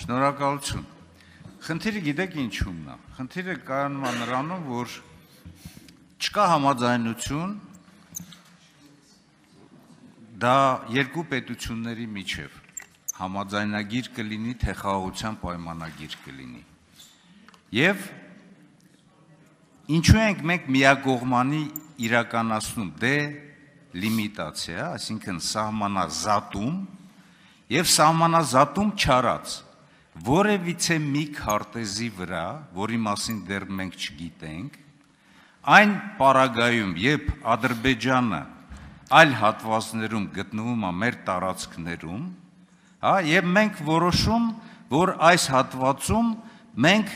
Շնորհակալություն։ Խնդիրը գիտեք ինչումն է։ Խնդիրը կայանում է նրանում, որ չկա համաձայնություն դա երկու պետությունների միջև համաձայնագիր կլինի, թե խաղաղության պայմանագիր կլինի։ Եվ ինչու ենք մենք միակողմանի իրականացնում դելիմիտացիա, այսինքն սահմանազատում եւ սահմանազատում չարած որևիցե մի քարտեզի վրա, որի մասին դեռ մենք չգիտենք, այն պարագայում, երբ Ադրբեջանը այլ հատվածներում գտնվում է մեր տարածքներում, եւ մենք որոշում, որ այս հատվածում մենք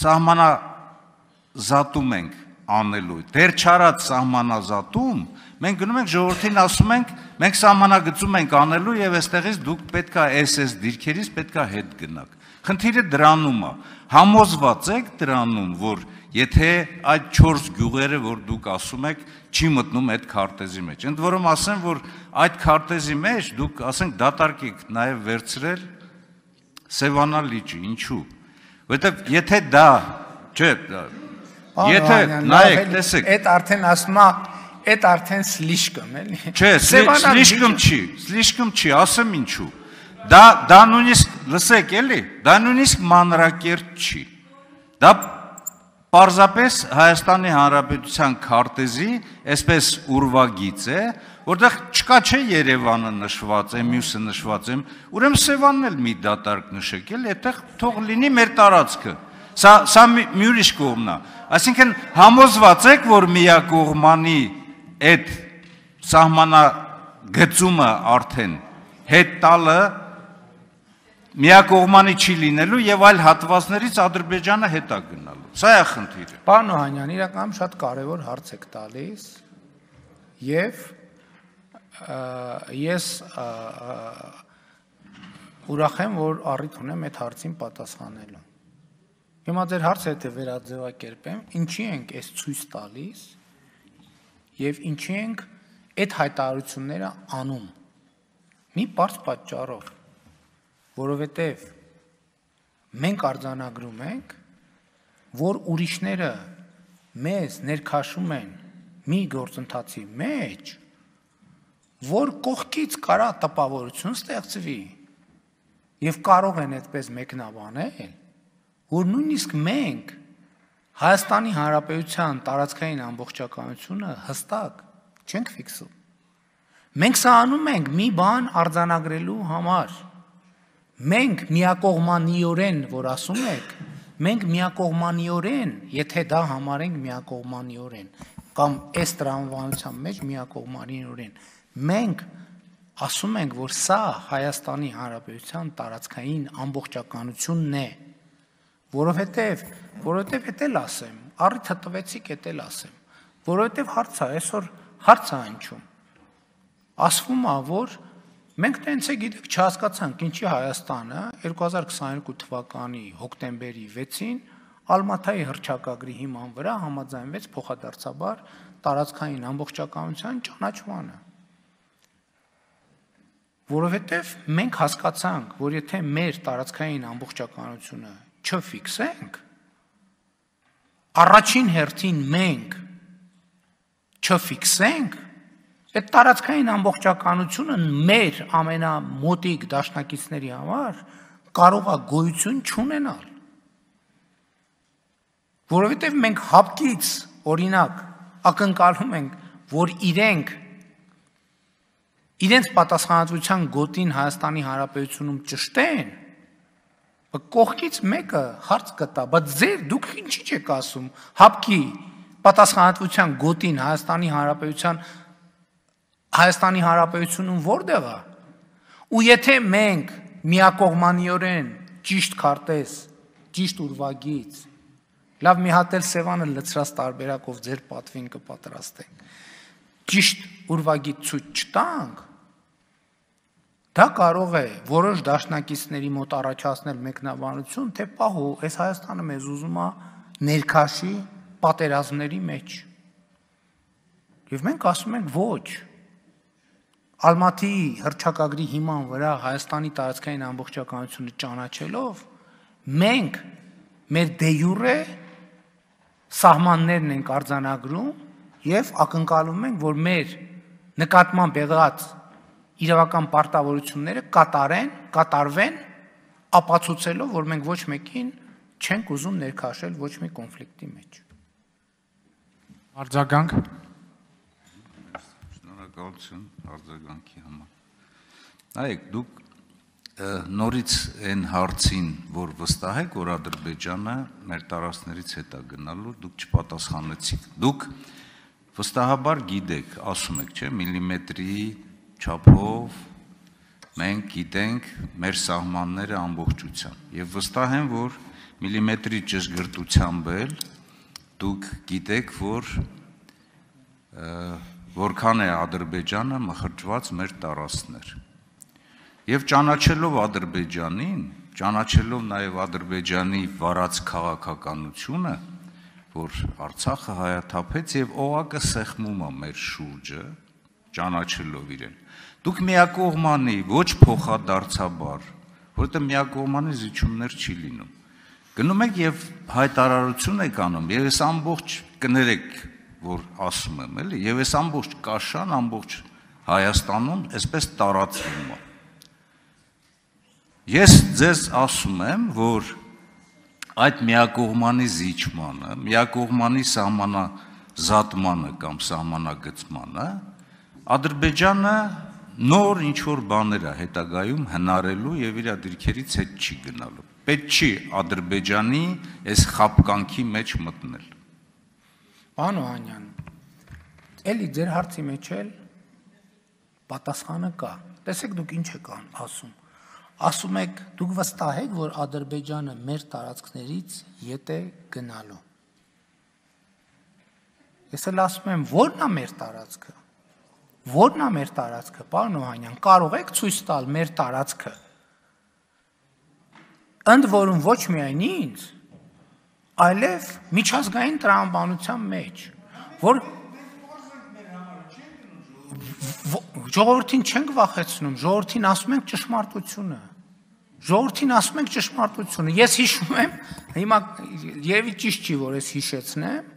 սահմանազատում ենք անելու, դեռ չարած սահմանազատում, մենք գնում ենք ժողովրդին ասում ենք, մենք սահմանագծում ենք անելու եւ այստեղից դուք պետք է SS դիրքերից պետք է հետ գնաք։ Խնդիրը դրանում է, համոզված եք դրանում, որ եթե այդ 4 գյուղերը, որ դուք ասում եք, չի մտնում այդ քարտեզի մեջ։ Ընդ որում ասեմ, որ այդ քարտեզի մեջ դուք ասենք դատարկեք նաեւ վերցրել Սևանա լիճը, ինչու։ Որովհետեւ եթե դա, չէ, եթե նայեք, տեսեք, այդ արդեն ասում է, այդ արդեն սլիշկում էլի։ Չէ, սլիշկում չի, ասեմ ինչու։ Դա նույնիսկ, լսեք էլի, դա նույնիսկ մանրակերտ չի։ Դա պարզապես Հայաստանի Հանրապետության քարտեզի, այսպես ուրվագիծ է, որտեղ չկա չէ Երևանը նշված է, մյուսը նշված է, ուրեմն Սևանն էլ մի դատարկ նշեք էլ, այդտեղ թող լինի մեր տարածքը։ Սա մի ուրիշ կողմն է։ Այսինքն համոզված եք, որ միակողմանի այդ սահմանագծումը արդեն հետ տալը միակողմանի չի լինելու եւ այլ հատվածներից Ադրբեջանը հետ է գնալու։ Սա է խնդիրը։ Պարոն Օհանյան, իրականում շատ կարևոր հարց եք տալիս եւ ես ուրախ եմ, որ առիթ ունեմ այդ հարցին պատասխանելու։ Հիմա ձեր հարցը եթե վերաձևակերպեմ, ինչի ենք այս ցույց տալիս եւ ինչի ենք այդ հայտարարությունները անում։ Մի բարձ պատճառով, որովհետեւ մենք արձանագրում ենք, որ ուրիշները մեզ ներքաշում են մի գործընթացի մեջ, որ կողքից կարա տպավորություն ստեղծվի եւ կարող են այդպես մեկնաբանել, որ նույնիսկ մենք Հայաստանի Հանրապետության տարածքային ամբողջականությունը հստակ չենք ֆիքսում։ Մենք սա անում ենք մի բան արձանագրելու համար։ Մենք միակողմանիորեն, որ ասում եք, մենք միակողմանիորեն, եթե դա համարենք միակողմանիորեն, կամ այս տրամաբանության մեջ միակողմանիորեն, մենք ասում ենք, որ սա Հայաստանի Հանրապետության տարածքային ամբողջականությունն է, որովհետև էդ էլ ասեմ, առիթը տվեցիք էդ էլ ասեմ, որովհետև հարցը, այսօր հարցը անչում, ասվում է, որ մենք տենց է գիտեք չհասկացանք, ինչի Հայաստանը 2022 թվականի հոկտեմբերի 6-ին Ալմաթայի հռչակագրի հիման վրա համաձայնվեց փոխադարձաբար տարածքային ամբողջականության ճանաչմանը։ Որովհետև մենք հասկացանք, որ եթե մեր տարածքային ամբողջականությունը չֆիքսենք, առաջին հերթին մենք չֆիքսենք, այդ տարածքային ամբողջականությունը մեր ամենամոտիկ դաշնակիցների համար կարող է գոյություն չունենալ։ Որովհետև մենք հապկից, օրինակ, ակնկալում ենք, որ իրենց պատասխանատվության գոտին Հայաստանի Հանրապետությունում ճշտեն, կողքից մեկը հարց կտա, բայց դուք ինչի չեք ասում, հապկի պատասխանատվության գոտին Հայաստանի Հանրապետությունում որտեղ է, ու եթե մենք միակողմանիորեն ճիշտ քարտեզ, ճիշտ ուրվագիծ, լավ մի հատ էլ Սևանը լցրած տարբերակով ձեր պատվին կպատրաստենք, ճիշտ ուրվագիծ ցույց չտանք, դա կարող է որոշ դաշնակիցների մոտ առաջացնել մեկնաբանություն, թե պահո, այս Հայաստանը մեզ ուզում է ներքաշի պատերազմների մեջ։ Եվ մենք ասում ենք ոչ, Ալմատիի հռչակագրի հիման վրա Հայաստանի տարածքային ամբողջականությունը ճանաչելով մենք մեր դե յուրե սահմաններն ենք արձանագրում եւ ակնկալում ենք, որ մեր նկատմամբ եղած իրավական պարտավորությունները կատարվեն, ապացուցելով, որ մենք ոչ մեկին չենք ուզում ներքաշել ոչ մի կոնֆլիկտի մեջ։ Արձագանք։ Շնորհակալություն արձագանքի համար։ Նայեք, դուք նորից այն հարցին, որ վստահ եք, որ Ադրբեջանը մեր տարածքներից հետ է գնալու, դուք չպատասխանեցիք։ Դուք վստահաբար գիտեք, ասում եք, չէ՞, միլիմետրի չափով մենք գիտենք մեր սահմանները ամբողջությամբ եւ վստահ եմ, որ միլիմետրի ճշգրտությամբ էլ դուք գիտեք, որ որքան է Ադրբեջանը մխրճված մեր տարածքներ։ Եվ ճանաչելով Ադրբեջանին, ճանաչելով նաև Ադրբեջանի վարած քաղաքականությունը, որ Արցախը հայաթափեց եւ օղակը սեղմում է մեր շուրջը, ճանաչելով իրեն։ Դուք միակողմանի, ոչ փոխադարձաբար, որովհետեւ միակողմանի զիջումներ չի լինում։ Գնում եք եւ հայտարարություն եք անում, եւ ես ամբողջ կներեք, որ ասում եմ, էլի, եւ ես ամբողջ կաշան, ամբողջ Հայաստանում այսպես տարածվում է։ Ես ձեզ ասում եմ, որ այդ միակողմանի զիջմանը, միակողմանի սահմանազատմանը կամ սահմանագծմանը Ադրբեջանը նոր ինչ-որ բաներ է հետագայում հնարելու եւ իր դիրքերից հետ չի գնալու։ Պետք չի Ադրբեջանի այս խապկանքի մեջ մտնել։ Պարոն Օհանյան, էլի ձեր հարցի մեջ էլ պատասխանը կա։ Տեսեք դուք ինչ եք ասում։ Ասում եք, դուք վստահ եք, որ Ադրբեջանը մեր տարածքներից ետ է գնալու։ Ես էլ ասում եմ, ո՞րն է մեր տարածքը։ Ո՞րն է մեր տարածքը, պարոն Օհանյան, կարող եք ցույց տալ մեր տարածքը։ Ընդ որում ոչ միայն ինձ, այլև միջազգային տրամաբանության մեջ, որ ժողովրդին չենք վախեցնում, ժողովրդին ասում ենք ճշմարտությունը։ Ժողովրդին ասում ենք ճշմարտությունը։ Ես հիշում եմ, հիմա երևի ճիշտ չի, որ ես հիշեցնեմ,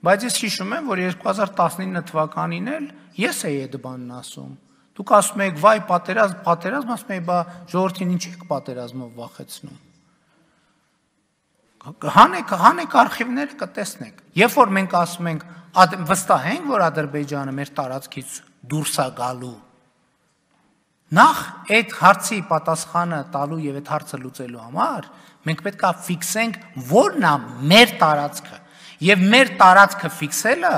բայց ես հիշում եմ, որ 2019 թվականին էլ ես էի այդ բանն ասում։ Դուք ասում եք, վայ, պատերազմ, ասում եք, բա ժողովրդին ինչ եք պատերազմով վախեցնում։ Հանեք արխիվները կտեսնեք։ Երբ որ մենք ասում ենք, վստահ ենք, որ Ադրբեջանը մեր տարածքից դուրս է գալու, նախ այդ հարցի պատասխանը տալու եւ այդ հարցը լուծելու համար մենք պետք է ֆիքսենք որն է մեր տարածքը եւ մեր տարածքը ֆիքսելը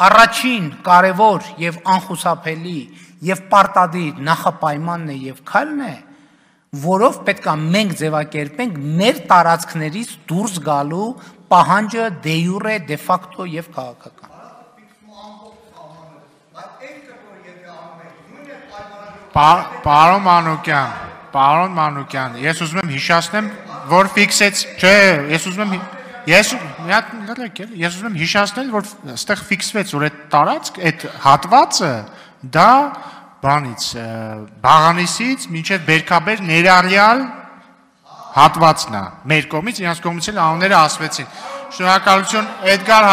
առաջին կարևոր եւ անխուսափելի եւ պարտադիր նախապայմանն է եւ քայլն է, որով պետք է մենք ձևակերպենք մեր տարածքներից դուրս գալու պահանջը դե յուրե, դե ֆակտո եւ քաղաքական։ Պարոն Մանուկյան, ես ուզում եմ հիշեցնեմ, որ ֆիքսեց, չէ, ես ուզում եմ հիշեցնել, որ այստեղ ֆիքսվեց, որ այդ տարածք, այդ հատվածը դա բանից, Բաղանիսից մինչև Բերքաբեր ներառյալ հատվածն է, մեր կողմից, իրանց կողմից էլ անունները ասվեցին։ Շնորհակալություն, Էդգար